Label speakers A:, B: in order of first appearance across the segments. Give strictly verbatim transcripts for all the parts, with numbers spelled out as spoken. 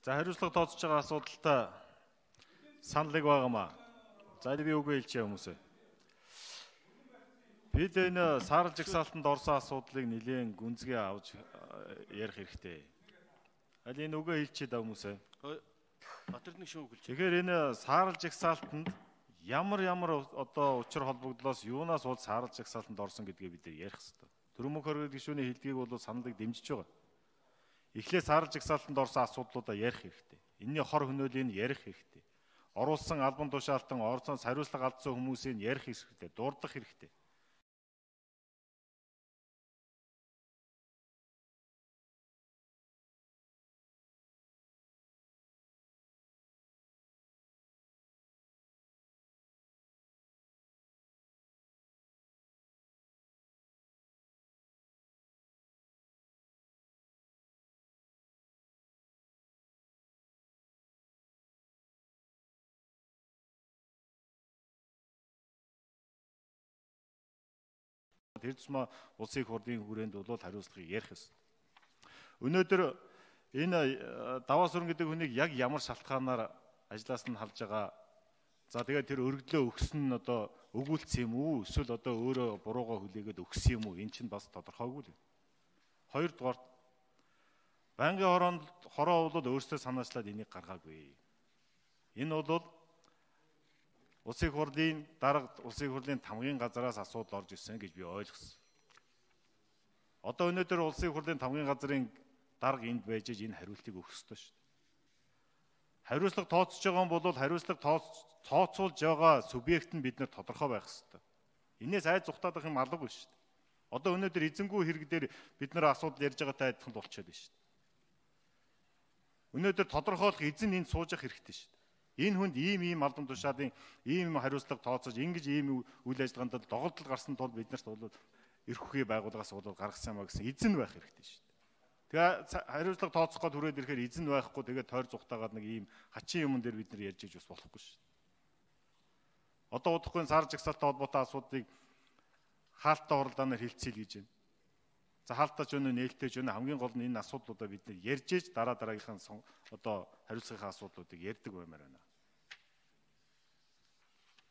A: За хариуцлага тооцож байгаа асуудалтай саналыг байгаамаа. За би үгүй хэлчихье хүмүүсээ. Бид энэ саарл жагсаалтанд орсон асуудлыг нэлээд гүнзгий авч ярих хэрэгтэй. Аль энэ үгүй хэлчихье да хүмүүсээ.
B: Батэрдний шүүг хэлж.
A: Тэгэхээр энэ саарл жагсаалтанд ямар ямар одоо учир холбогдлоос юунаас бол саарл жагсаалтанд орсон гэдгийг бид ярих хэрэгтэй. Төрөмөх хоригдох гишүүний хэлдгийг бол саналыг дэмжиж байгаа. Эхлээд саарл жагсаалтанд орсон асуудлуудаа ярих хэрэгтэй. Энийний хор хөнөөлийг ярих хэрэгтэй. Оруулсан албан тушаалтан орцоос хариуцлага алдсан хүмүүсийг ярих хэрэгтэй, дурдах хэрэгтэй. Тэр тусмаа улсын их хурлын хүрээнд бол хариуцлагыг ярих ёстой. Өнөөдөр энэ даваа сүрэн гэдэг хүнийг яг ямар шалтгаанаар ажлаас нь халж байгаа. За тэгээд тэр өргөдлөө өгсөн нь одоо өгүүлсэн юм уу? Эсвэл одоо өөрөө буруугаа хүлээгээд өгсөн юм уу? Энэ чинь бас тодорхойгүй л. Хоёрдугаар банкны хороонд хороо бол өөрсдөө санаачлаад энийг гаргаагүй. Энэ бол улсын их хурлын дарга улсын их хурлын тамгын газараас асуудал орж ирсэн гэж би ойлгосон. Одоо өнөөдөр улсын их хурлын тамгын газрын дарга энд байж энэ хариултыг өгөх ёстой шүү дээ. Хариуцлага тооцож байгаа нь бол хариуцлага тооцоолж байгаа субъект нь бид нэр тодорхой байх ёстой. Энээс айд зүхтаадах юм алгагүй шүү дээ. Одоо өнөөдөр эзэнгүй хэрэг дээр бид нэр асуудал ярьж байгаатай адилхан болчиход байна шүү дээ. Өнөөдөр тодорхойлох эзэн энд сууж явах хэрэгтэй шүү дээ. Энэ хүнд ийм ийм албан тушаалын ийм хариуцлага тооцож ингэж ийм үйл ажиллагаанд доголдол гарсан тул бид нарт бол эрх үхий байгууллагаас бол гаргасан юм а гэсэн эзэн байх хэрэгтэй шүү дээ. Тэгээ хариуцлага тооцох гээд хүрээд ирэхээр эзэн байхгүй тэгээ тойр зүхтаагаад нэг ийм хачин юм дээр бид нар ярьж иж бас болохгүй шүү дээ. Одоо удахгүй сар жагсаалтай холбоотой асуудыг хаалттай хуралдаанаар хилцээл гэж байна. За хаалттай ч өнөө нээлттэй ч өнөө хамгийн гол нь энэ асуудлуудаа бид нар ярьж иж дараа дараагийнхаа одоо хариуцлагын асуудлуудыг ярьдаг баймаар байна.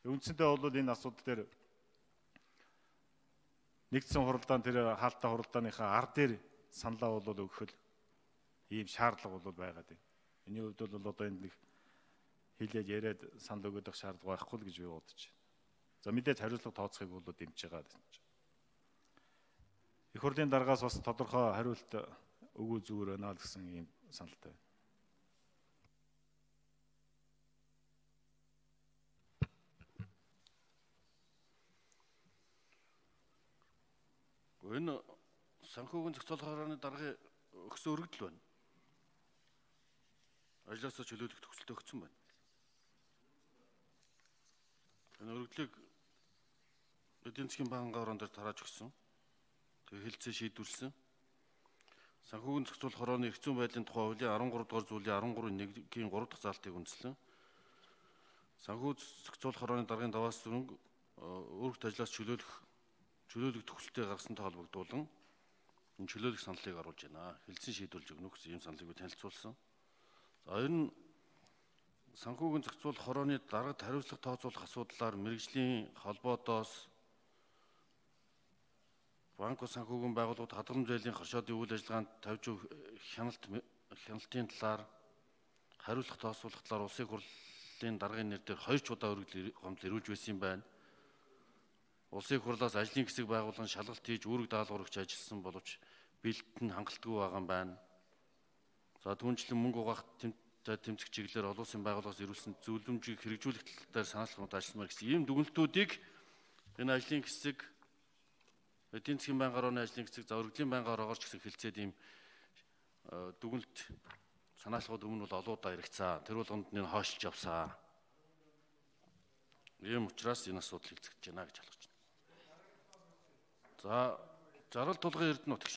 A: Үндсэндээ бол энэ асуудал дээр нэгдсэн хуралдаан тэр хаалттай хуралдааныхаа ар дээр саналаа бол өгөх ийм шаардлага бол байгаад байна. Миний хувьд бол одоо энд нэг хэлээд яриад санал өгөх шаардлага байхгүй л гэж би бодож байна. За мэдээж хариуцлага тооцохыг бол дэмжиж байгаа. Их хурлын даргаас бас тодорхой хариулт өгөө зүгээр байна л гэсэн ийм саналтай байна.
B: Энэ санхүүгийн зохицуулах хорооны даргын өгсөн өргөдөл байна. Ажлаасаа чөлөөлөх төгсөлтөй өгсөн байна. Энэ өргөдлийг эдийн засгийн банкны орон дээр тарааж өгсөн. Тэгээ хэлцээ шийдвэрлсэн. Санхүүгийн зохицуулах хорооны эрх зүйн байдлын тухай хуулийн арван гурав дугаар зүйлийн арван гурав нэг-ийн гурав дахь заалтыг үндэслэн санхүү зохицуулах хорооны даргын даваас зүрэнг өөрөлт ажлаас чөлөөлөх чөлөөлөх төгсөлтөй гаргасантай холбогдуулан энэ чөлөөлөх саналыг оруулж байна. Хэлцэн шийдвэрлэж өгнө гэсэн ийм саналыг танилцуулсан. За хоёр нь санхүүгийн зохицуулах хорооны даргад хариуцлага тооцоолох асуудлаар мэргэжлийн холбоотоос банк санхүүгийн байгууллагууд хадгаламж зээлийн хоршоодын үйл ажиллагаанд тавьж өгөх хяналт хяналтын талаар хариуцлага тооцоолох талаар улсын хурлын даргын нэр дээр хоёр ч удаа өргөдөл гомдол ирүүлж байсан юм байна. Улсын их хурлаас ажлын хэсэг байгуулан шалгалт хийж үүрэг даалгавар өгч ажилласан боловч бэлтэн хангалтгүй байгаа юм байна. За түүнчлэн мөнгө угаах тэмцэх чиглэлээр олон улсын байгууллагаас ирүүлсэн зөвлөмжийг хэрэгжүүлэх тал дээр санаалгад ажилламаар гэсэн ийм дүгнэлтүүдийг энэ ажлын хэсэг эдийн засгийн банкны орооны ажлын хэсэг за өргөдлийн банкны ороогоор ч гэсэн хэлцээд ийм дүгнэлт санаалгад өмнө бол олоудаа яригцсан. Тэр болгонд нь хойшилж явсан. Ийм учраас энэ асуудал хэлцэж байна гэж ойлгож байна. За зарал тулгын эрдэнэ нутагш